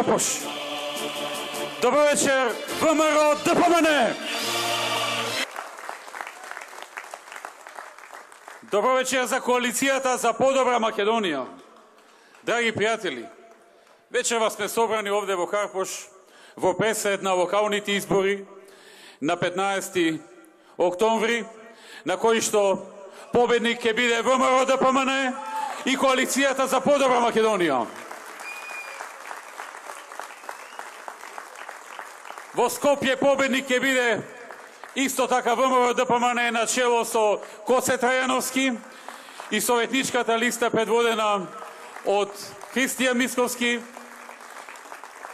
Карпуш. Добро вечер, ВМРО ДПМН. Добро вечер за коалицијата за подобра Македонија. Драги пријатели, вечерва сме собрани овде во Карпуш во пресред на локалните избори на 15 октомври, на кои што победник ќе биде ВМРО ДПМН и коалицијата за подобра Македонија. Во Скопје победник ќе биде исто така ВМРО ДПМН на чело со Коце Трајановски и советничката листа предводена од Христијан Мисковски,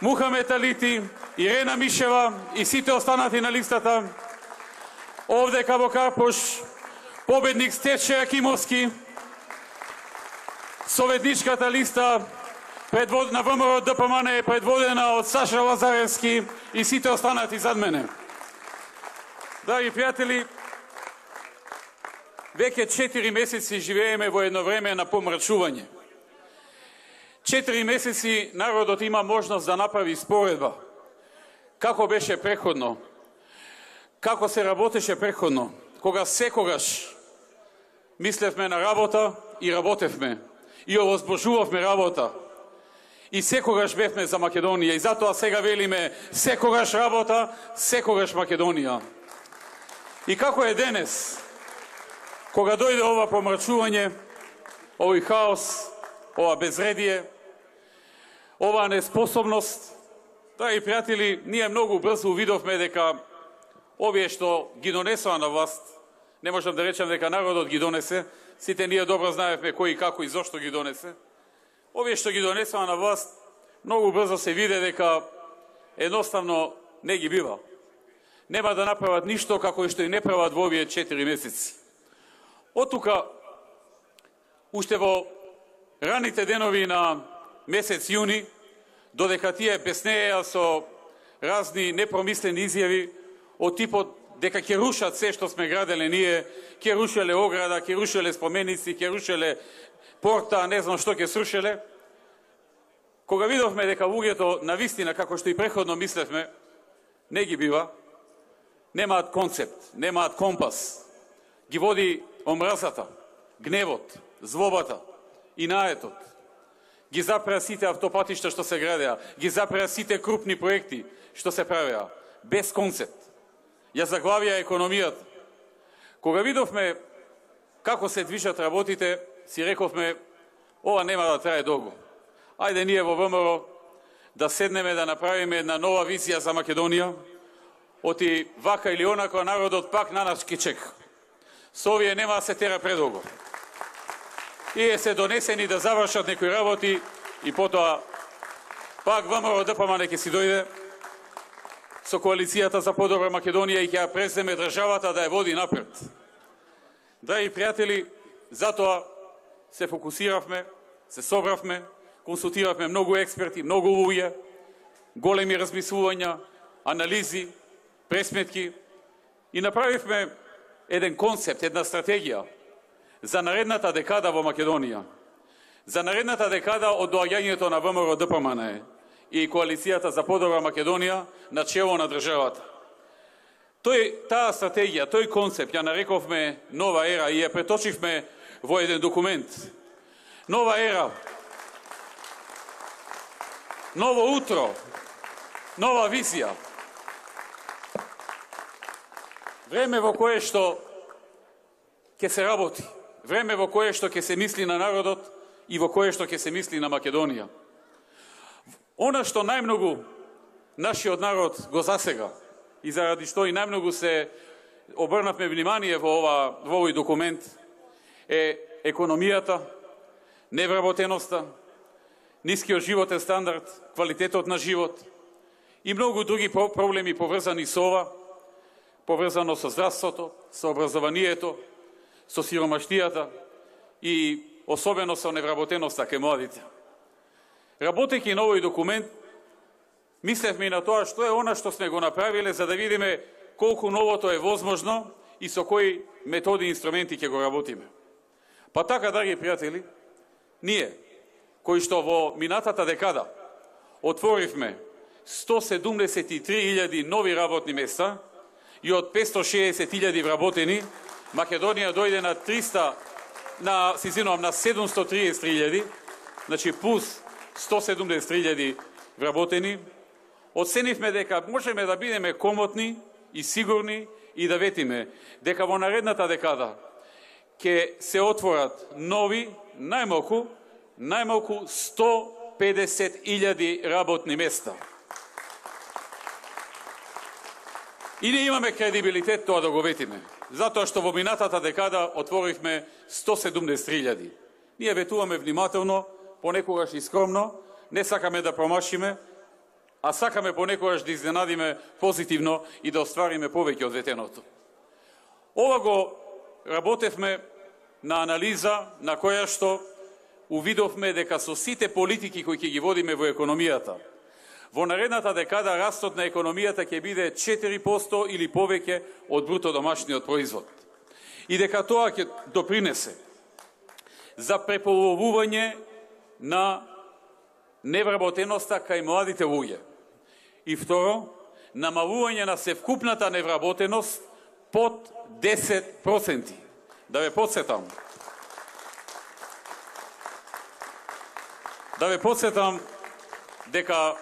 Мухамед Алити, Ирена Мишева и сите останати на листата. Овде во Карпуш победник Стече Акимовски, советничката листа на ВМРО ДПМН е предводена од Саша Лазаревски и сите останати зад мене. Драги пријатели, веќе 4 месеци живееме во едно време на помрачување. 4 месеци народот има можност да направи споредба. Како беше преходно, како се работеше преходно, кога секогаш мислевме на работа и работевме, и овозможувавме работа. И секогаш бевме за Македонија, и затоа сега велиме секогаш работа, секогаш Македонија. И како е денес, кога дојде ова помрачување, овој хаос, ова безредие, ова неспособност, драги пријатели, ние многу брзо увидовме дека овие што ги донесоа на власт, не можам да речам дека народот ги донесе, сите ние добро знаевме кој и како и зошто ги донесе. Овие што ги донесоа на власт, многу брзо се виде дека едноставно не ги бива. Нема да направат ништо како и што и не прават во овие 4 месеци. Оттука, уште во раните денови на месец јуни, додека тие беснееа со разни непромислени изјави од типот дека ќе рушат се што сме граделе ние, ќе рушеле ограда, ќе рушеле споменици, ќе рушеле порта, не знам што ќе срушеле. Кога видовме дека луѓето на вистина, како што и преходно мислевме, не ги бива, немаат концепт, немаат компас, ги води омразата, гневот, злобата и наетот. Ги запреа сите автопатишта што се градеа, ги запреа сите крупни проекти што се правеа, без концепт. Ја заглавија економијата. Кога видовме како се движат работите, си рековме, ова нема да трае долго. Ајде ние во ВМРО да седнеме да направиме една нова визија за Македонија, оти вака или онако народот пак на нас ќе чека. Со овие нема да се тера предолго. И се донесени да завршат некои работи и потоа пак ВМРО ДПМН ќе си дојде со коалицијата за подобра Македонија и ќе ја преземе државата да ја води напред. Драги пријатели, затоа се фокусиравме, се собравме, консултиравме многу експерти, многу луѓе, големи размислувања, анализи, пресметки и направивме еден концепт, една стратегија за наредната декада во Македонија. За наредната декада од доаѓањето на ВМРО ДПМН и коалицијата за подобра Македонија на чело на државата. Таа стратегија, тој концепт ја нарековме нова ера и ја преточивме во еден документ. Нова ера, ново утро, нова визија. Време во кое што ќе се работи, време во кое што ќе се мисли на народот и во кое што ќе се мисли на Македонија. Она што најмногу нашиот народ го засега и заради што и најмногу се обрнавме внимание во овој документ е економијата, невработеноста, нискиот животен стандард, квалитетот на живот и многу други проблеми поврзани со ова, поврзано со здравството, со образованието, со сиромаштијата и особено со невработеноста кај младите. Работејќи на овој документ, мислевме и на тоа што е она што сме го направиле за да видиме колку новото е возможно и со кои методи и инструменти ќе го работиме. Па така, драги пријатели, ние, кои што во минатата декада отворивме 173.000 нови работни места и од 560.000 вработени, Македонија дојде на 733.000, значи плюс 173.000 вработени. Оценивме дека можеме да бидеме комотни и сигурни и да ветиме дека во наредната декада ќе се отворат нови, најмалку 150.000 работни места. И ние имаме кредибилитет тоа да го ветиме, затоа што во минатата декада отворивме 173.000. Ние ветуваме внимателно, понекогаш и скромно, не сакаме да промашиме, а сакаме понекогаш да изненадиме позитивно и да оствариме повеќе од ветеното. Ова го работевме на анализа на која што увидовме дека со сите политики кои ќе ги водиме во економијата, во наредната декада растот на економијата ќе биде 4% или повеќе од бруто домашниот производ. И дека тоа ќе допринесе за преполовување на невработеноста кај младите луѓе. И второ, намалување на севкупната невработеност под 10%. Да ве подсетам дека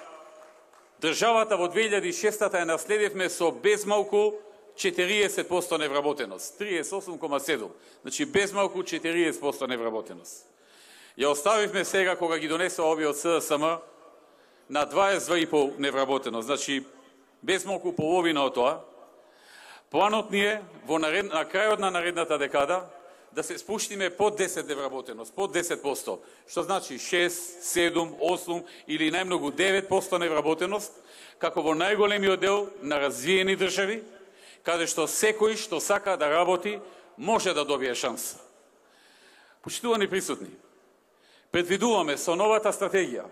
државата во 2006 ја наследивме со безмалку 40% невработеност. 38,7. Значи безмалку 40% невработеност. Ја оставивме сега кога ги донесува овие од СДСМ на 22,5 невработеност. Значи безмалку половина од тоа. Планот ни е на крајот на наредната декада да се спуштиме под 10 невработеност, под 10%, што значи 6, 7, 8 или најмногу 9% невработеност, како во најголемиот дел на развиени држави, каде што секој што сака да работи може да добие шанса. Почитувани присутни, предвидуваме со новата стратегија,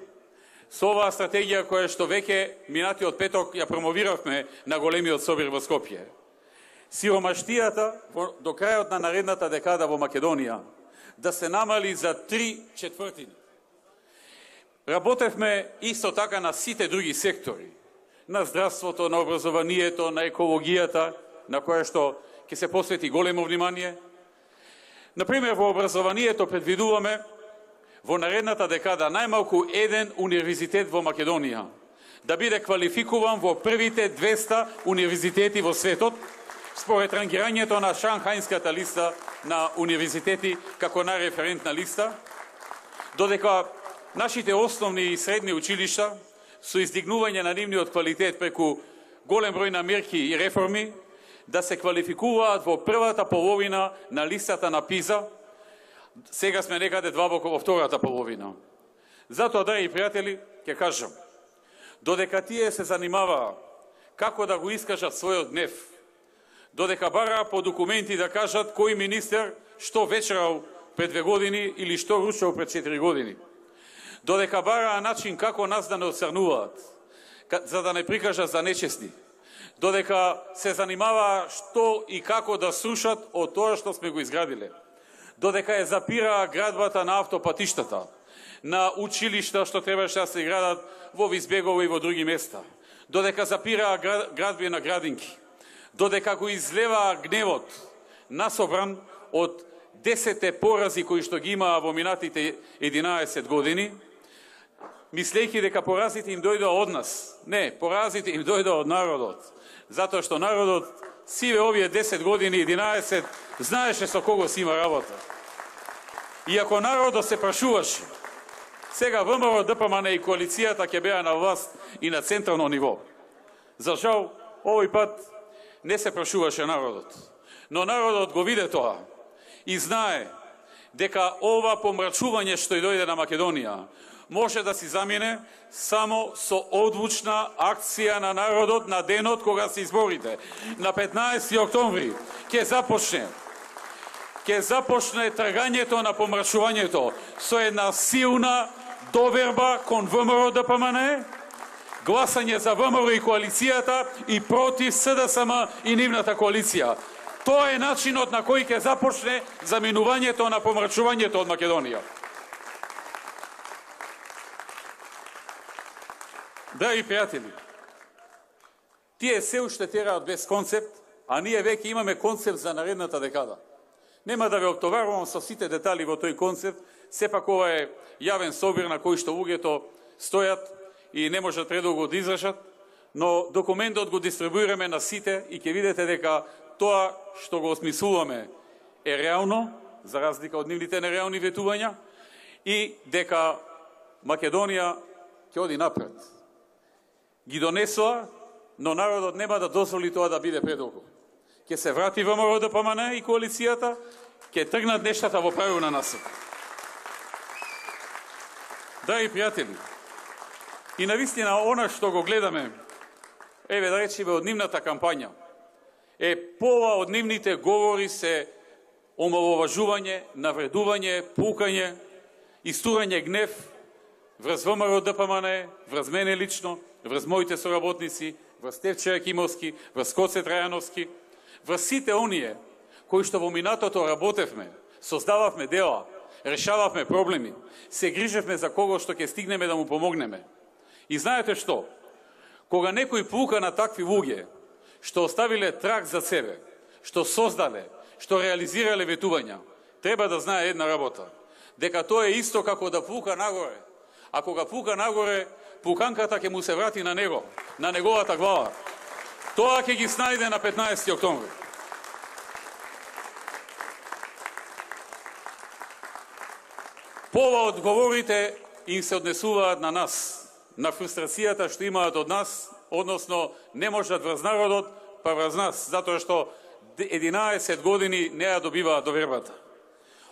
со оваа стратегија која што веќе минатиот петок ја промовиравме на големиот собир во Скопје, сиромаштијата до крајот на наредната декада во Македонија да се намали за 3/4. Работевме исто така на сите други сектори, на здравството, на образованието, на екологијата, на која што ќе се посвети големо внимание. Например, во образованието предвидуваме во наредната декада најмалку еден универзитет во Македонија да биде квалификуван во првите 200 универзитети во светот, според рангирањето на Шанхајската листа на универзитети како најреферентна листа, додека нашите основни и средни училишта со издигнување на нивниот квалитет преку голем број на мерки и реформи да се квалификуваат во првата половина на листата на ПИЗа, сега сме некаде длабоко во втората половина. Затоа, драги пријатели, ќе кажам, додека тие се занимаваа како да го искажат својот гнев, додека бараа по документи да кажат кој министер што вечерал пред 2 години или што ручал пред 4 години, додека бараа начин како нас да не оцрнуваат, за да не прикажат за нечестни, додека се занимаваа што и како да срушат од тоа што сме го изградиле, додека ја запираа градбата на автопатиштата, на училишта што требаше да се градат во Визбегово и во други места, додека запираа градби на градинки, додека го излеваа гневот насобран од 10 порази кои што ги имаа во минатите 11 години, мислејќи дека поразите им дојдоа од нас. Не, поразите им дојдоа од народот. Затоа што народот сиве овие 10 години, 11, знаеше со кого си има работа. И ако народот се прашуваше, сега ВМРО, ДПМН и коалицијата ќе беа на власт и на централно ниво. За жал, овој пат не се прашуваше народот. Но народот го виде тоа и знае дека ова помрачување што и дојде на Македонија може да си замине само со одлучна акција на народот на денот кога се изборите. На 15 октомври ќе започне тргањето на помрачувањето со една силна доверба кон ВМРО ДПМН, гласање за ВМРО и коалицијата и против СДСМ и нивната коалиција. Тоа е начинот на кој ќе започне заминувањето на помрачувањето од Македонија. Драги пријатели, тие се уште тераат без концепт, а ние веќе имаме концепт за наредната декада. Нема да ве оптоварувам со сите детали во тој концепт, сепак ова е јавен собир на кој што луѓето стојат и не можат предолго да израшат, но документот го дистрибуираме на сите и ќе видите дека тоа што го осмислуваме е реално, за разлика од нивните нереални ветувања, и дека Македонија ќе оди напред. Ги донесоа, но народот нема да дозволи тоа да биде предолго. Ќе се врати ВМРО ДПМН и коалицијата, ќе тргнат нештата во правилна насока. Драги пријатели, и навистина она што го гледаме, еве да речеме од нивната кампања, пола од нивните говори се омаловажување, навредување, пукање, истурање гнев врз ВМРО ДПМН, врз мене лично, врз моите соработници, врз Стефче Акимовски, врз Коце Трајановски, врз сите оние кои што во минатото работевме, создававме дела, решававме проблеми, се грижевме за кого што ќе стигнеме да му помогнеме. И знаете што? Кога некој пука на такви луѓе, што оставиле траг за себе, што создале, што реализирале ветувања, треба да знае една работа, дека тоа е исто како да пука нагоре. А кога пука нагоре, пуканката ќе му се врати на него, на неговата глава. Тоа ќе ги снајде на 15 октомври. Пола одговорите им се однесуваат на нас, на фрустрацијата што имаат од нас, односно не можат врз народот, па врз нас, затоа што 11 години не ја добиваат довербата.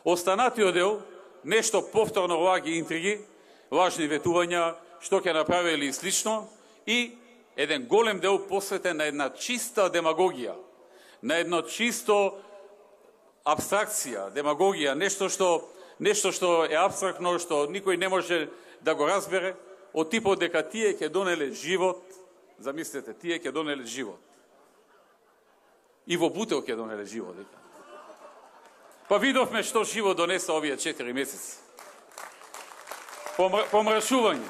Останатиот дел, нешто повторно лаги интриги, лажни ветувања, што ќе направили и слично, и еден голем дел посветен на една чиста демагогија, на едно чисто абстракција, демагогија, нешто што е абстрактно, што никој не може да го разбере, од типот дека тие ќе донеле живот, замислете, тие ќе донеле живот. И во Бутел ќе донеле живот. Па видовме што живот донеса овие 4 месеци. Помрачување.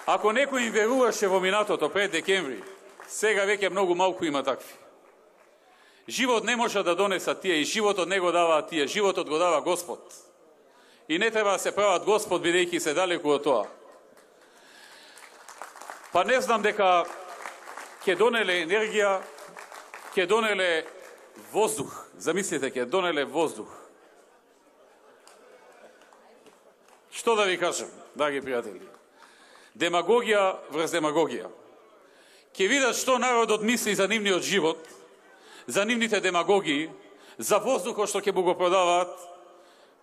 Ако некој им веруваше во минатото пред декември, сега веќе многу малку има такви. Живот не може да донесат тие и животот не го даваат тие, животот го дава Господ. И не треба да се прават Господ, бидејќи се далеку од тоа. Па не знам дека ќе донеле енергија, ќе донеле воздух. Замислите, ќе донеле воздух. Што да ви кажам, драги пријатели? Демагогија врз демагогија. Ќе видат што народот мисли за нивниот живот, за нивните демагогии, за воздухот што ќе му го продаваат,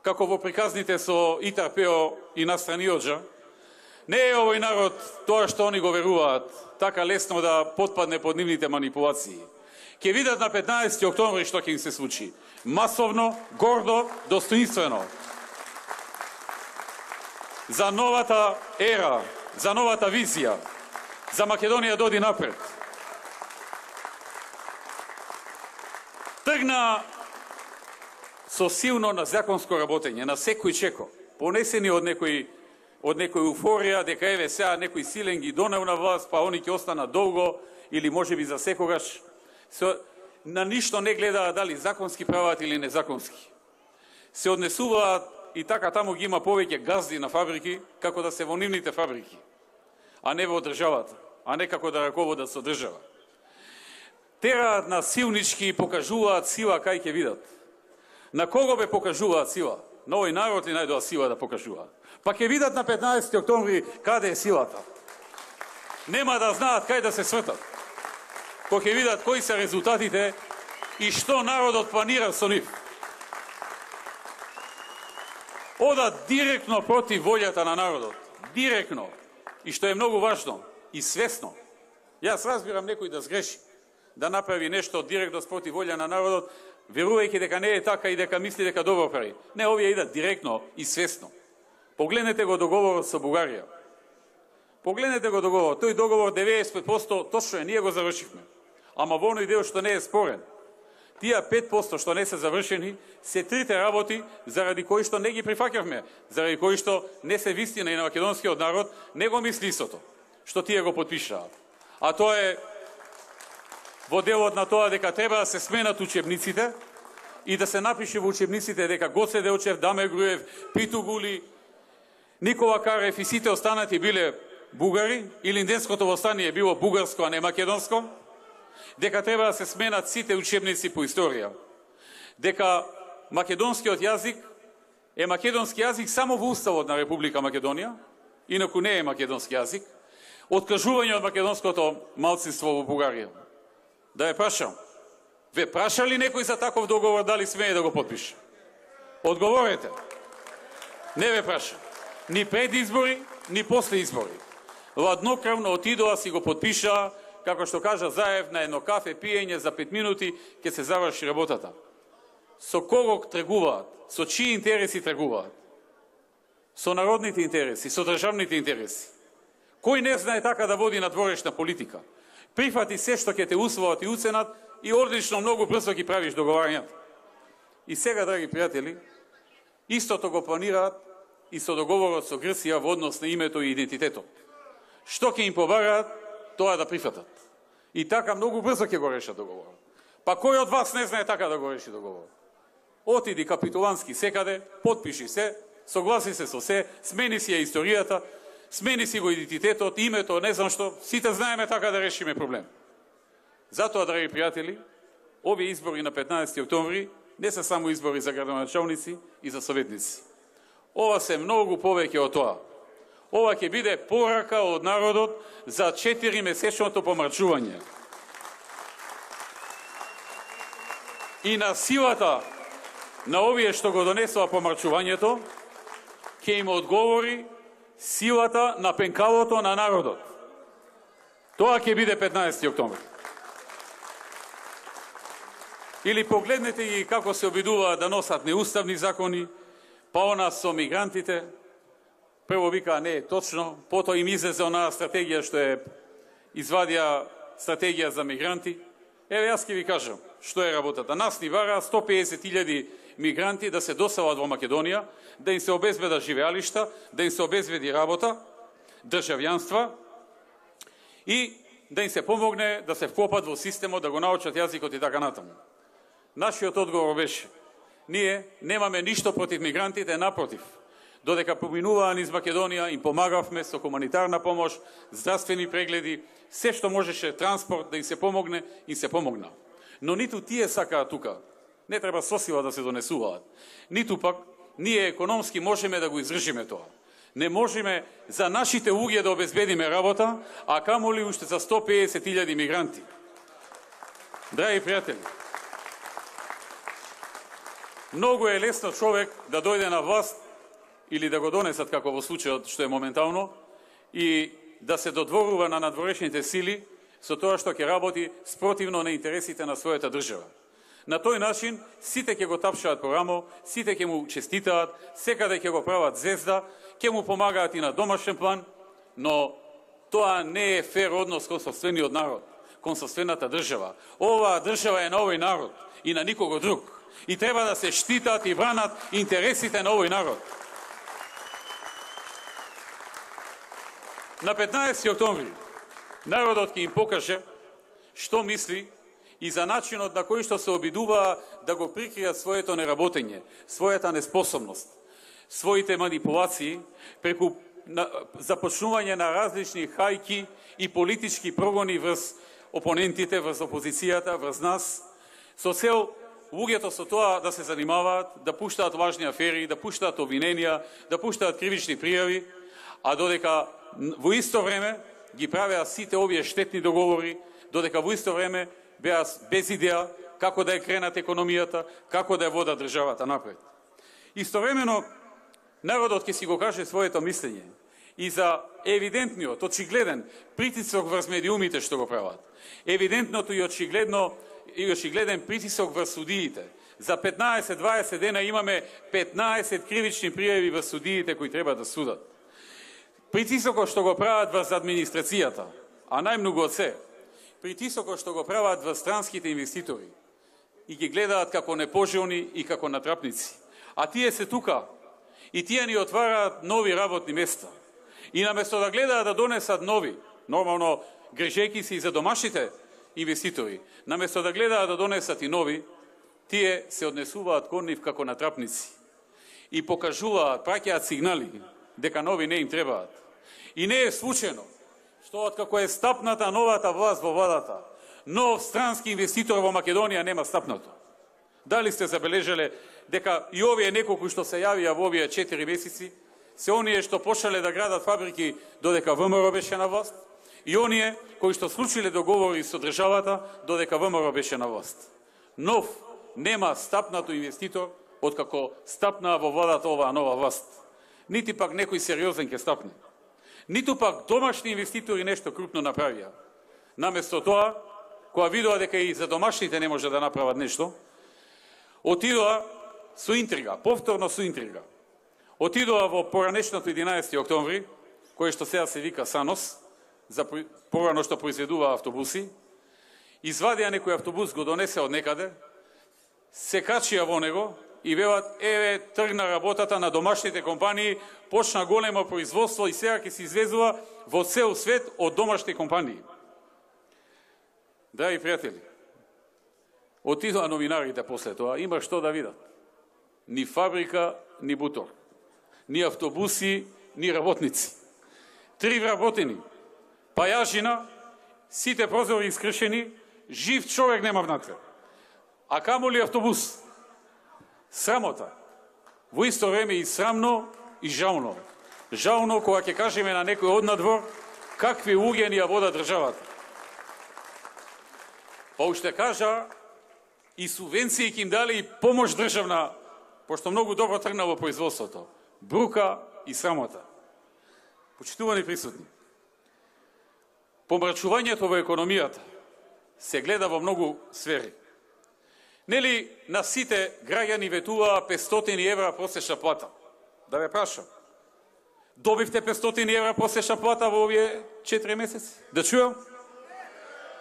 како во приказните со Итар-Пео и Настраниоджа. Не е овој народ тоа што они го веруваат, така лесно да потпадне под нивните манипулации. Ќе видат на 15 октомври што ќе им се случи. Масовно, гордо, достоинствено. За новата ера, за новата визија, за Македонија да оди напред. Тргна со силно на законско работење, на секој чеко, понесени од некој уфорија, дека еве сега некој силен ги донел на власт, па они ќе останат долго, или можеби за секогаш. На ништо не гледаат дали законски прават или незаконски. Се однесуваат и така таму ги има повеќе газди на фабрики, како да се во нивните фабрики, а не во државата, а не како да раководат со држава. Тераат на силнички и покажуваат сила кај ќе видат. На кого бе покажуваат сила? На овој народ ли најдоа сила да покажуваат? Па ќе видат на 15 октомври каде е силата. Нема да знаат кај да се свртат. Кога ќе видат кои се резултатите и што народот планира со нив. Одат директно против волјата на народот. Директно. И што е многу важно, и свесно. Јас разбирам некој да сгреши, да направи нешто директно спротив волја на народот, верувајќи дека не е така и дека мисли дека добро прави. Не, овие идат директно и свесно. Погледнете го договорот со Бугарија. Погледнете го договорот. Тој договор 95% точно е, ние го завршивме. Ама во оној дел што не е спорен. Тие 5% што не се завршени, се трите работи заради кои што не ги прифаќавме, заради кои што не се вистина и на македонскиот народ, не го мисли истото, што тие го потпишаат. А тоа е во делот на тоа дека треба да се сменат учебниците и да се напише во учебниците дека Гоце Делчев, Даме Груев, Питу Гули, Никола Карев и сите останати биле бугари, или Инденското востание било бугарско, а не македонско, дека треба да се сменат сите учебници по историја, дека македонскиот јазик е македонски јазик само во Уставот на Република Македонија, инаку не е македонски јазик, откажување од македонското малцинство во Бугарија. Да ве прашам, ве праша ли некој за таков договор, дали смее да го потпише? Одговорете. Не ве праша. Ни пред избори, ни после избори. Ладнокрвно отидоа си го потпишаа, како што кажа Заев, на едно кафе пиење за 5 минути ќе се заврши работата. Со кого тргуваат? Со чии интереси тргуваат? Со народните интереси, со државните интереси. Кој не знае така да води надворешна политика? Прифати се што ќе те усвоат и уценат и одлично многу брзо ги правиш договарањата. И сега, драги пријатели, истото го планираат и со договорот со Грција во однос на името и идентитетот. Што ќе им побараат, тоа да прифатат. И така многу брзо ќе го решат договорот. Па кој од вас не знае така да го реши договорот? Отиди капитулански секаде, потпиши се, согласи се со се, смени си ја историјата, смени си го идентитетот, името, не знам што, сите знаеме така да решиме проблем. Затоа, драги пријатели, овие избори на 15 октомври не се само избори за градоначалници и за советници. Ова се многу повеќе од тоа. Ова ќе биде порака од народот за 4-месечното помрачување. И на силата на овие што го донесува помрачувањето, ќе им одговори силата на пенкалото на народот. Тоа ќе биде 15 октомври. Или погледнете ги како се обидуваат да носат неуставни закони, па она со мигрантите, прво вика не е точно, потоа им излезе онаа стратегија што е извадија стратегија за мигранти. Еве јас ќе ви кажам што е работата. Нас ни вара 150.000 мигранти да се доселат во Македонија, да им се обезбедат живеалишта, да им се обезбеди работа, државјанства и да им се помогне да се вкопат во системот, да го научат јазикот и така натаму. Нашиот одговор беше: ние немаме ништо против мигрантите, напротив. Додека поминуваа низ Македонија, им помагавме со хуманитарна помош, здравствени прегледи, се што можеше, транспорт, да им се помогне, им се помогна. Но ниту тие сакаат тука. Не треба со сила да се донесуваат. Ниту пак ние економски можеме да го издржиме тоа. Не можеме за нашите луѓе да обезбедиме работа, а камоли уште за 150.000 мигранти. Драги пријатели, многу е лесно човек да дојде на власт или да го донесат, како во случајот што е моментално, и да се додворува на надворешните сили со тоа што ќе работи спротивно на интересите на својата држава. На тој начин сите ќе го тапшаат по рамо, сите ќе му честитаат, секаде ќе го прават звезда, ќе му помагаат и на домашен план, но тоа не е фер однос кон сопствениот народ, кон сопствената држава. Оваа држава е на овој народ и на никого друг. И треба да се штитат и бранат интересите на овој народ. На 15 октомври народот ќе им покаже што мисли и за начинот на кој што се обидуваа да го прикријат своето неработење, својата неспособност, своите манипулации преку започнување на различни хајки и политички прогони врз опонентите, врз опозицијата, врз нас, со цел луѓето со тоа да се занимаваат, да пуштаат важни афери, да пуштаат обвиненија, да пуштаат кривични пријави, а додека во исто време ги правеа сите овие штетни договори, додека во исто време беа без идеја како да ја кренат економијата, како да ја водат државата напред. Истовремено, народот ќе си го каже своето мислење и за евидентниот, очигледен притисок врз медиумите што го прават. Евидентното и очигледен притисок врз судиите. За 15-20 дена имаме 15 кривични пријави врз судиите кои треба да судат. Притисокот што го прават врз администрацијата, а најмногу од се, притисокот што го прават врз странските инвеститори, и ги гледаат како непожелни и како натрапници. А тие се тука и тие ни отвараат нови работни места. И наместо да гледаат да донесат нови, нормално грижејќи се и за домашните инвеститори, наместо да гледаат да донесат и нови, тие се однесуваат кон нив како натрапници и покажуваат, праќаат сигнали дека нови не им требаат. И не е случајно што откако е стапната новата власт во владата, нов странски инвеститор во Македонија нема стапнато. Дали сте забележале дека и овие неколку што се јавија во овие 4 месеци, се оние што почнале да градат фабрики додека ВМРО беше на власт, и оние кои што случиле договори со државата додека ВМРО беше на власт. Нов нема стапнато инвеститор откако стапнаа во владата оваа нова власт. Нити пак некој сериозен ќе стапне. Ниту пак домашни инвеститори нешто крупно направија. Наместо тоа, кога видоа дека и за домашните не може да направат нешто, отидоа со интрига, повторно со интрига. Отидоа во поранешното 11 октомври, кој што сега се вика САНОС, за порано што произведува автобуси, извадија некој автобус, го донесе од некаде, се качија во него и велат, еве, тргна работата на домашните компании, почна големо производство и сега ќе се извезува во цел свет од домашни компании. Драги пријатели, отидоа новинарите после тоа, има што да видат. Ни фабрика, ни бутор. Ни автобуси, ни работници. 3 вработени, пајажина, сите прозори искршени, жив човек нема внатре. А камо ли автобус? Срамота. Во исто време и срамно и жално. Жално кога ќе кажеме на некој од надвор какви луѓе ни ја вода државата. Па уште кажа и субвенции ќе им дали и помош државна, пошто многу добро тргна во производството. Брука и срамота. Почитувани присутни, помрачувањето во економијата се гледа во многу сфери. Нели на сите граѓани ветуваа 500 евра просечна плата? Да ве прашам. Добивте 500 евра просечна плата во овие 4 месеци? Да чујам?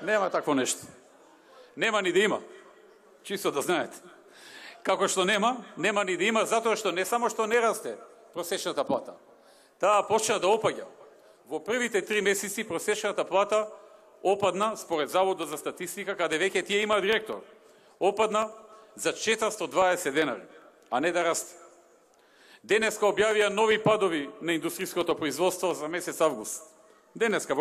Нема такво нешто. Нема ни да има. Чисто да знаете. Како што нема ни да има, затоа што не само што не расте просечната плата, таа почна да опаѓа. Во првите 3 месеци просечната плата опадна, според Заводот за статистика, каде веќе тие има директор, опадна за 420 денари, а не да расте. Денеска објавија нови падови на индустријското производство за месец август. Денеска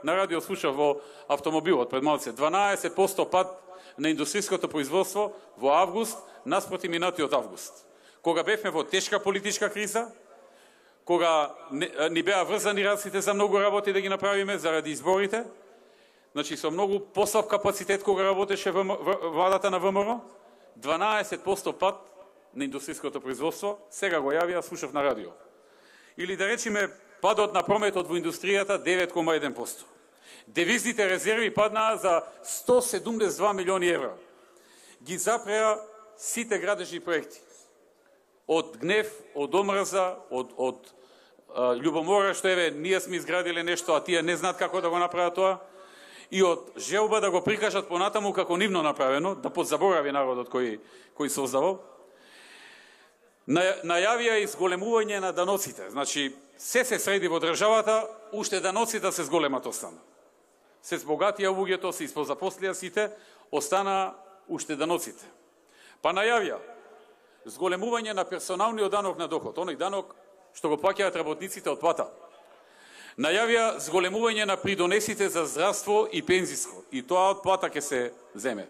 на радио слушав во автомобилот пред малце 12% пад на индустријското производство во август наспроти минатиот август. Кога бевме во тешка политичка криза, кога ни беа врзани раците за многу работи да ги направиме заради изборите, значи со многу послаб капацитет кога работеше владата на ВМРО, 12% пад на индустријското производство, сега го јавија, слушав на радио. Или да речеме падот на прометот во индустријата 9,1%. Девизните резерви паднаа за 172 милиони евра. Ги запреа сите градежни проекти. Од гнев, од омрза, од љубомора, што еве, ние сме изградиле нешто, а тие не знаат како да го направат тоа, и од желба да го прикажат понатаму како нивно направено, да подзаборави народот кој создавал. Најавија и зголемување на даноците. Значи, се среди во државата, уште даноците се зголемат остана. Се збогатија луѓето, се испозапослија сите, остана уште даноците. Па најавија зголемување на персоналниот данок на доход, оној данок што го плаќаат работниците од плата. Најавија зголемување на придонесите за здравство и пензиско, и тоа од плата ќе се земе.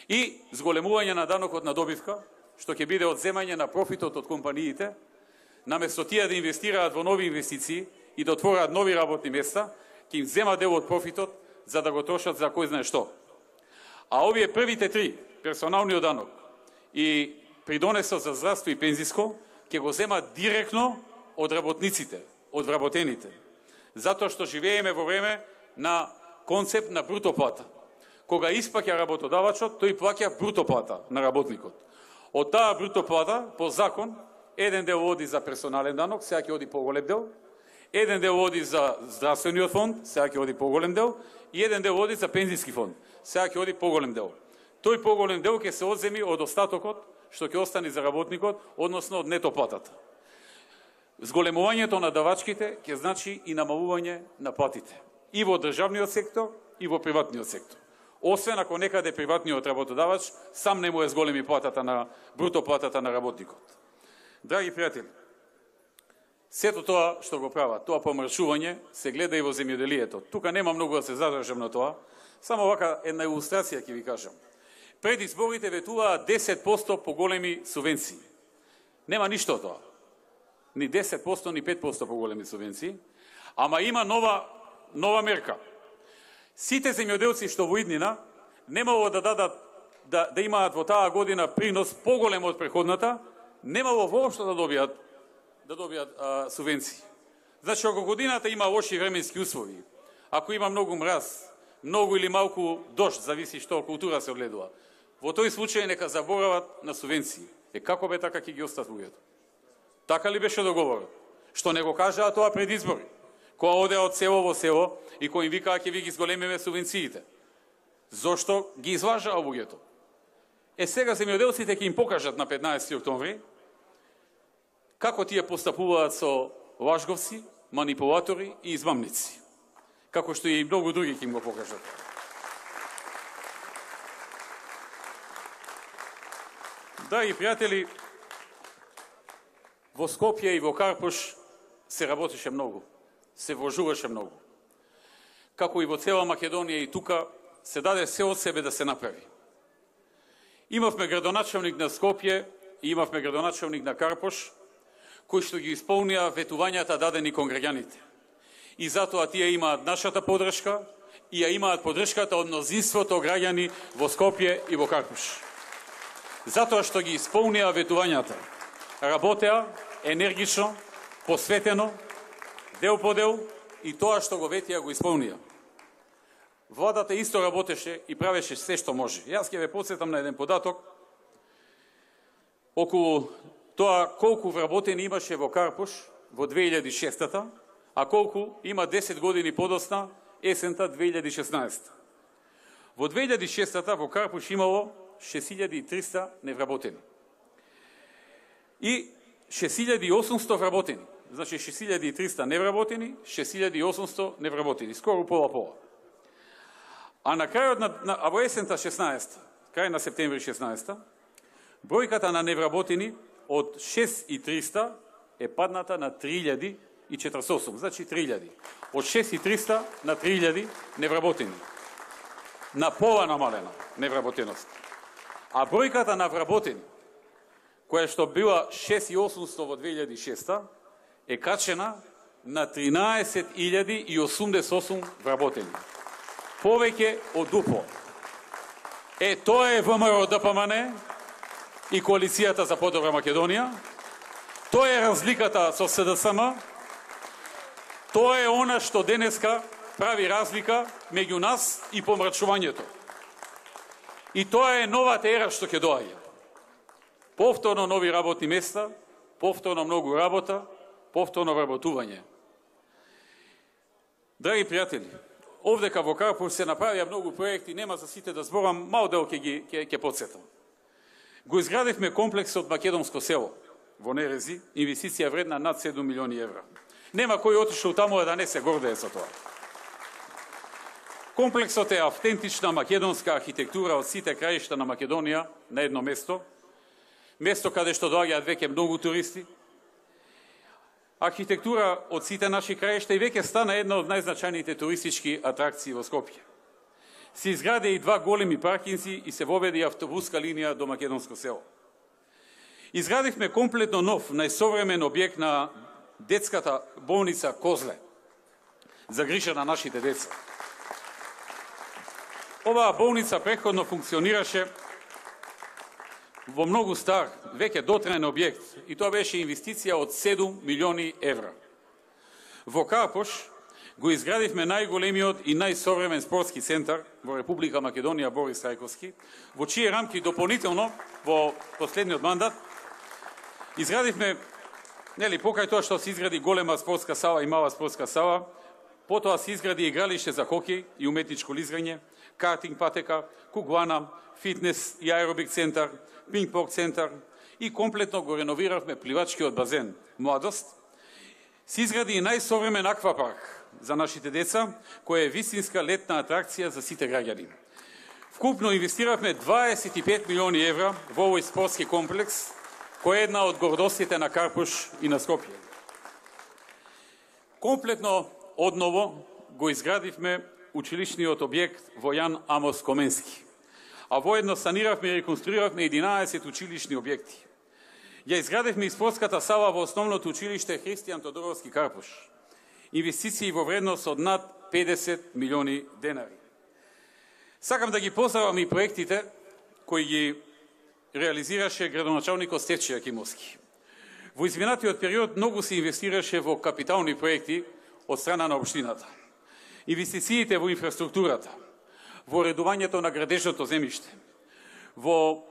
И зголемување на данокот на добивка, што ќе биде одземање на профитот од компаниите, наместо тие да инвестираат во нови инвестиции и да отворат нови работни места, ќе им зема дел од профитот за да го трошат за кој знае што. А овие првите 3, персоналниот данок и придонесот за здравство и пензиско, ќе го земат директно од работниците, од вработените. Затоа што живееме во време на концепт на бруто плата. Кога испаќа работодавачот, тој плаќа бруто плата на работникот. Од таа бруто плата, по закон, еден дел оди за персонален данок, сега ќе оди поголем дел, еден дел оди за здравствениот фонд, сега ќе оди поголем дел, и еден дел оди за пензиски фонд, сега ќе оди поголем дел. тој поголем дел ќе се одземи од остатокот што ќе остане за работникот, односно од нето платата. Зголемувањето на давачките ќе значи и намалување на платите и во државниот сектор и во приватниот сектор. Освен ако некаде приватниот работодавач сам не му е зголеми платата на бруто платата на работникот. Драги пријатели, сето тоа што го прават, тоа помршување се гледа и во земјоделието. Тука нема многу да се задржам на тоа, само вака една илустрација ќе ви кажам. Пред изборите ветуваат 10% поголеми субвенции. Нема ништо од тоа. Ни 10%, ни 5% поголеми субвенции, ама има нова мерка. Сите земјоделци што во иднина немало да дадат да имаат во таа година принос поголем од преходната, немало воопшто да добијат субвенции. Значи, ако годината има лоши временски услови, ако има многу мраз, многу или малку дожд, зависи што култура се огледува, во тој случај нека заборават на субвенции. Како бе така ќе ги остат луѓето? Така ли беше договорот? Што не го кажаа тоа пред избори? Која одеа од село во село и кој им викаа ќе ви ги зголемиме субвенциите. Зошто ги излажаа луѓето? Сега земјоделците ќе им покажат на 15 октомври како тие постапуваат со лажговци, манипулатори и измамници. Како што и многу други ќе им го покажат. Драги пријатели, во Скопје и во Карпуш се работеше многу, се вложуваше многу. Како и во цела Македонија и тука се даде се од себе да се направи. Имавме градоначалник на Скопје и имавме градоначалник на Карпуш, кои што ги исполнија ветувањата дадени кон граѓаните. И затоа тие имаат нашата поддршка и ја имаат поддршката од мнозинството граѓани во Скопје и во Карпуш. Затоа што ги исполнија ветувањата, работеа енергично, посветено, дел по дел, и тоа што го ветија го исполнија. Владата исто работеше и правеше се што може. Јас ќе ве потсетам на еден податок околу тоа колку вработени имаше во Карпуш во 2006-та, а колку има 10 години подосна есента 2016. Во 2006-та во Карпуш имало 6300 невработени. И 6800 вработени. Значи 6300 невработени, 6800 невработени. Скоро пола-пола. А на крајот а во есента 16, крај на септември 16, бројката на невработени од 6300 е падната на 3048. Значи 3000. Од 6300 на 3000 невработени. На пола намалена невработеност. А бројката на вработени, која што била 6800 во 2006, е качена на 13088 вработени. Повеќе од дупло. Тоа е ВМРО ДПМН и Коалицијата за подобра Македонија. Тоа е разликата со СДСМ. Тоа е она што денеска прави разлика меѓу нас и помрачувањето. И тоа е новата ера што ќе доаѓа. Повторно нови работни места, повторно многу работа, повторно вработување. Драги пријатели, овдека во Карпуш се направија многу проекти, нема за сите да зборам, мал дел ќе потсетам. Го изградивме комплексот Македонско село во Нерези, инвестиција вредна над 7 милиони евра. Нема кој отишол таму да не се гордее со тоа. Комплексот е автентична македонска архитектура од сите краишта на Македонија на едно место, место каде што доаѓаат веќе многу туристи. Архитектура од сите наши краишта и веќе стана една од најзначајните туристички атракции во Скопје. Се изгради и 2 големи паркинзи и се воведе автобуска линија до Македонско село. Изградивме комплетно нов, најсовремен објект на детската болница Козле за грижа на нашите деца. Оваа болница претходно функционираше во многу стар, веќе дотраен објект, и тоа беше инвестиција од 7 милиони евра. Во Карпуш го изградивме најголемиот и најсовремен спортски центар во Република Македонија Борис Трајковски, во чии рамки дополнително во последниот мандат изградивме, покрај тоа што се изгради голема спортска сала и мала спортска сала, Потоа се изгради игралиште за хокеј и уметничко лизгање, картинг патека, кугуана, фитнес и аеробик центар, пинг-понг центар и комплетно го реновиравме пливачкиот базен Младост. Се изгради и најсовремен аквапарк за нашите деца, која е вистинска летна атракција за сите граѓани. Вкупно инвестиравме 25 милиони евра во овој спортски комплекс, кој е една од гордостите на Карпуш и на Скопје. Комплетно одново го изградивме училишниот објект во Јан Амос Коменски, а воедно саниравме и реконструиравме 11 училишни објекти. Ја изградивме и спортската сала во основното училиште Христијан Тодоровски Карпуш. Инвестиции во вредност од над 50 милиони денари. Сакам да ги поздравам и проектите кои ги реализираше градоначалникот Стефче Јакимовски. Во изминатиот период многу се инвестираше во капитални проекти од страна на општината. Инвестициите во инфраструктурата, во уредувањето на градежното земјиште, во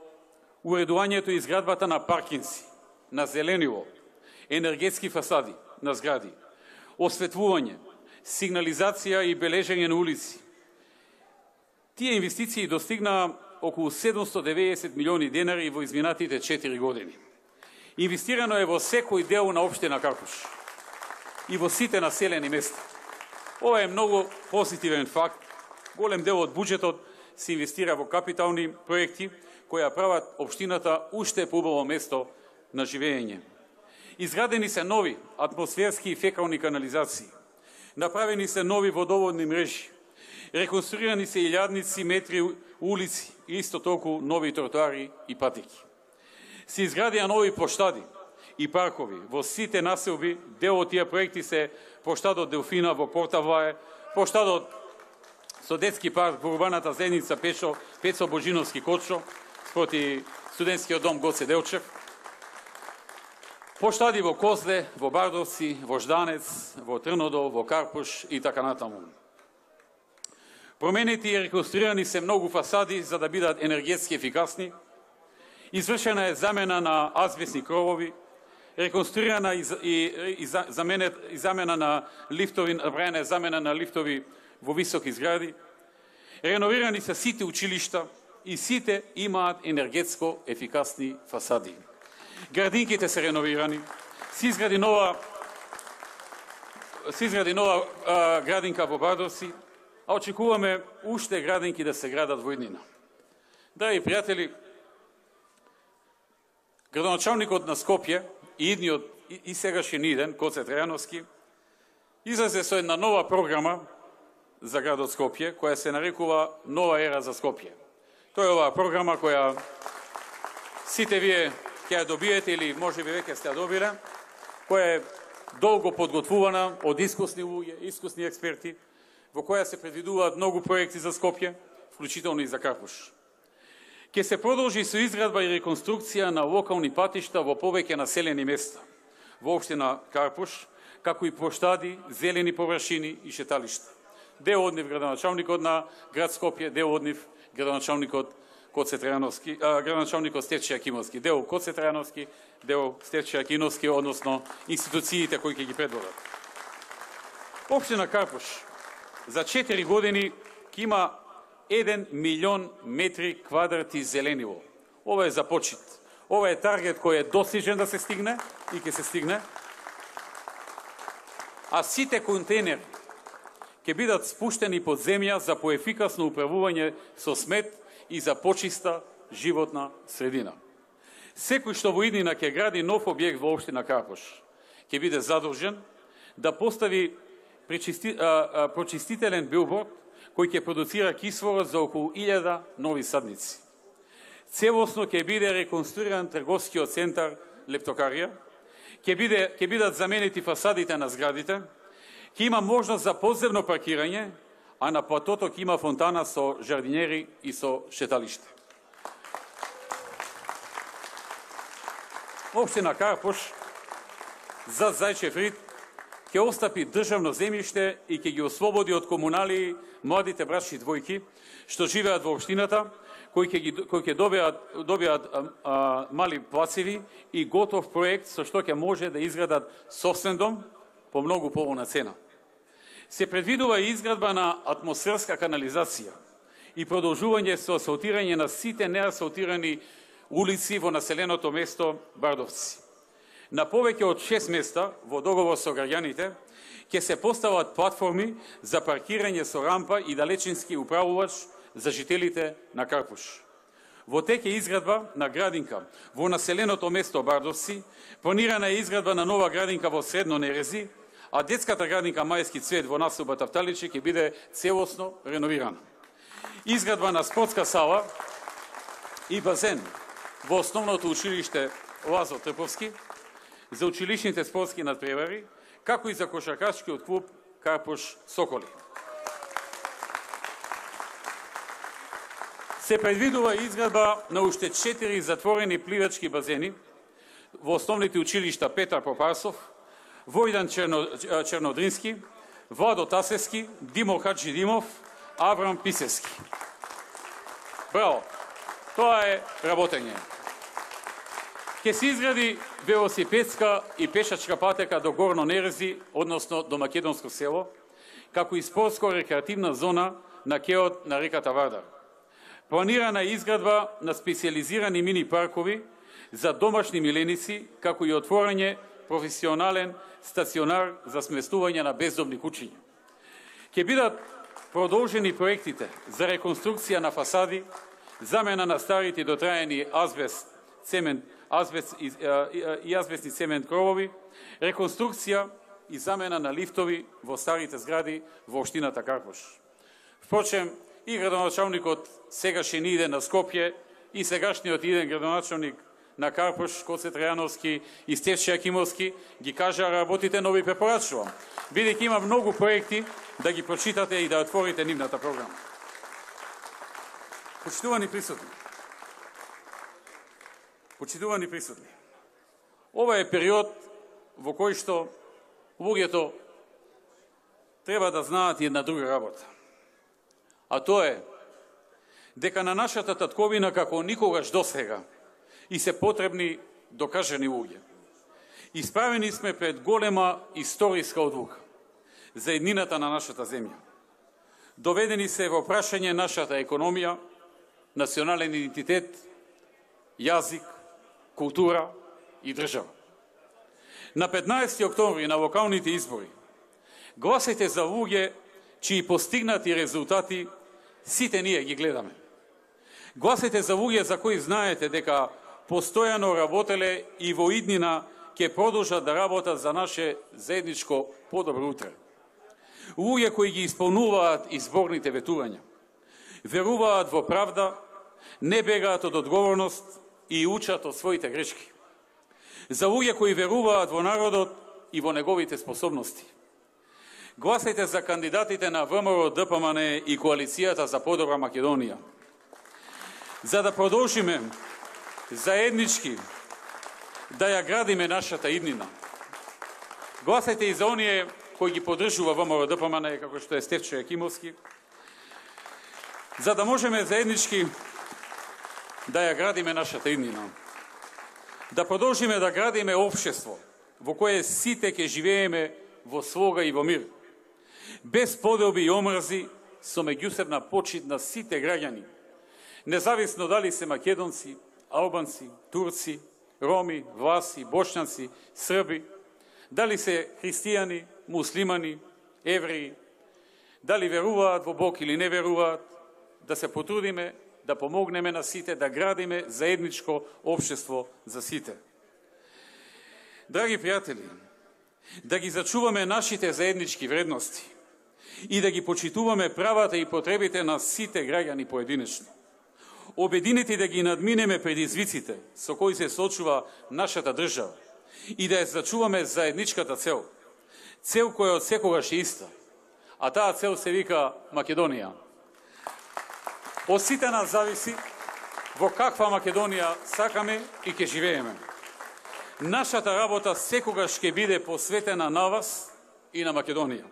уредувањето и изградбата на паркинзи, на зеленило, енергетски фасади на згради, осветлување, сигнализација и бележење на улици. Тие инвестиции достигнаа околу 790 милиони денари во изминатите 4 години. Инвестирано е во секој дел на општина Карпуш и во сите населени места. Ова е многу позитивен факт. Голем дел од буџетот се инвестира во капитални проекти кои прават општината уште поубаво место на живење. Изградени се нови атмосферски и фекални канализации. Направени се нови водоводни мрежи. Реконструирани се илјадници метри улици и исто толку нови тротоари и патеки. Се изградија нови поштади и паркови во сите населби. Дел од тие проекти се поштадот Делфина во Портавлае, поштадот со детски парк во урбаната заедница Пецо Божиновски Кочо, спроти студентскиот дом Гоце Делчев, поштади во Козле, во Бардовци, во Жданец, во Трнодол, во Карпуш и така натаму. Променети и реконструирани се многу фасади за да бидат енергетски ефикасни. Извршена е замена на азбестни кровови, реконструирана и замена на лифтови, направена е замена на лифтови во високи згради. Реновирани се сите училишта и сите имаат енергетско ефикасни фасади. Градинките се реновирани, се изгради нова градинка во Бардовци, а очекуваме уште градинки да се градат во иднина. Драги пријатели, градоначалникот на Скопје и идниот и сегашен иден, Гоце Трајановски, излезе со една нова програма за градот Скопје, која се нарекува Нова ера за Скопје. Тоа е оваа програма која сите вие ќе ја добиете или можеби веќе сте ја добиле, која е долго подготвувана од искусни луѓе, искусни експерти, во која се предвидуваат многу проекти за Скопје, вклучително и за Карпуш. Ке се продолжи со изградба и реконструкција на локални патишта во повеќе населени места во општина Карпуш, како и поштади, зелени површини и шеталишта. Дел од нив градоначалникот на град Скопје, дел од нив градоначалникот градоначалникот Стефче Јакимовски, дел Гоце Трајановски, дел Стефче Јакимовски, односно институциите кои ќе ги предводат. Општина Карпуш за 4 години ќе има 1 милион метри квадрати зеленило. Ова е за почит. Ова е таргет кој е достижен да се стигне и ќе се стигне. А сите контейнери ќе бидат спуштени под земја за поефикасно управување со смет и за почиста животна средина. Секој што во иднина ќе гради нов објект во општина Карпуш ќе биде задолжен да постави прочистителен билборд кој ќе продуцира кислород за околу 1000 нови садници. Целосно ќе биде реконструиран трговскиот центар Лептокарија, ќе бидат заменети фасадите на зградите, ќе има можност за подземно паркирање, а на платото ќе има фонтана со жардинери и со шеталиште. Општина Карпуш за Зајчев рид ќе остапи државно земјиште и ќе ги ослободи од комунали младите брачни двојки што живеат во општината, кои ќе добијат мали плацеви и готов проект со што ќе може да изградат собствен дом по многу поволна цена. Се предвидува и изградба на атмосферска канализација и продолжување со асфалтирање на сите неасфалтирани улици во населеното место Бардовци. На повеќе од 6 места во договор со граѓаните ќе се постават платформи за паркирање со рампа и далечински управувач за жителите на Карпуш. Во тек е изградба на градинка во населеното место Бардовци, планирана е изградба на нова градинка во Средно Нерези, а детската градинка Мајски цвет во населба Тафталичи ќе биде целосно реновирана. Изградба на спортска сала и базен во основното училиште Лазо Трповски за училишните спортски надпревари, како и за кошаркашкиот клуб Карпуш Соколи. Се предвидува изградба на уште 4 затворени пливачки базени во основните училишта Петар Попарсов, Војдан Чернодрински, Владо Тасевски, Димо Хаджидимов, Аврам Писевски. Браво! Тоа е работење. Ке се изгради велосипедска и пешачка патека до Горно Нерези, односно до Македонско село, како и спортско-рекреативна зона на кеот на реката Вардар. Планирана е изградба на специализирани мини паркови за домашни миленици, како и отворање професионален стационар за сместување на бездомни кучиња. Ке бидат продолжени проектите за реконструкција на фасади, замена на старите дотраени азбест, цемент, и азбестни цемент кровови, реконструкција и замена на лифтови во старите згради во општината Карпуш. Впрочем, и градоначалникот сегашен иде на Скопје и сегашниот иден градоначалник на Карпуш, Коце Трајановски и Стефче Акимовски ги кажа работите, но ви препорачувам, бидејќи има многу проекти, да ги прочитате и да отворите нивната програма. Почитувани присутни, ова е период во кој што луѓето треба да знаат една друга работа. А тоа е дека на нашата татковина како никогаш досега и се потребни докажани луѓе. Исправени сме пред голема историска одлука за еднината на нашата земја. Доведени се во прашање нашата економија, национален идентитет, јазик, култура и држава. На 15 октомври на локалните избори гласете за луѓе чии постигнати резултати сите ние ги гледаме. Гласете за луѓе за кои знаете дека постојано работеле и во иднина ќе продолжат да работат за наше заедничко подобро утре. Луѓе кои ги исполнуваат изборните ветувања, веруваат во правда, не бегаат од одговорност и учат од своите грешки. За луѓе кои веруваат во народот и во неговите способности. Гласајте за кандидатите на ВМРО, ДПМН и Коалицијата за подобра Македонија. За да продолжиме заеднички да ја градиме нашата иднина. Гласајте и за оние кои ги поддржува ВМРО, ДПМН, како што е Стефче Акимовски, за да можеме заеднички да ја градиме нашата иднина. Да продолжиме да градиме општество во кое сите ќе живееме во слога и во мир, без поделби и омрзи, со меѓусебна почит на сите граѓани, независно дали се македонци, албанци, турци, роми, власи, бошњаци, срби, дали се христијани, муслимани, евреи, дали веруваат во Бог или не веруваат, да се потрудиме да помогнеме на сите, да градиме заедничко општество за сите. Драги пријатели, да ги зачуваме нашите заеднички вредности и да ги почитуваме правата и потребите на сите граѓани поединечно. Обединети да ги надминеме предизвиците со кои се соочува нашата држава и да ја зачуваме заедничката цел. Цел која од секогаш е иста, а таа цел се вика Македонија. Од сите нас зависи во каква Македонија сакаме и ќе живееме. Нашата работа секогаш ќе биде посветена на вас и на Македонија.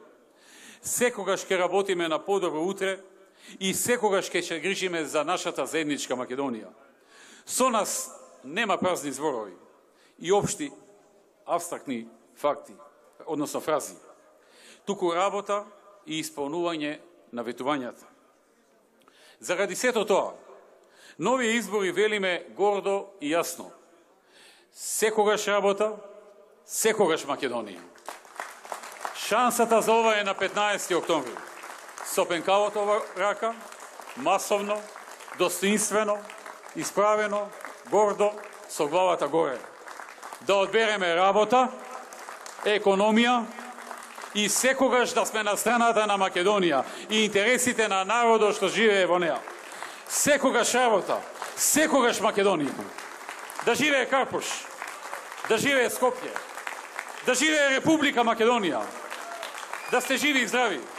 Секогаш ќе работиме на подобро утре и секогаш ќе се грижиме за нашата заедничка Македонија. Со нас нема празни зборови и општи абстрактни факти, односно фрази. Туку работа, и исполнување на ветувањата. Заради сето тоа, нови избори велиме гордо и јасно. Секогаш работа, секогаш Македонија. Шансата за ова е на 15. октомври. Со пенкавото во рака, масовно, достоинствено, исправено, гордо, со главата горе. Да одбереме работа, економија и секогаш да сме на страната на Македонија и интересите на народот што живее во неа. Секогаш работа, секогаш Македонија. Да живее Карпуш, да живее Скопје, да живее Република Македонија. Да сте живи и здрави.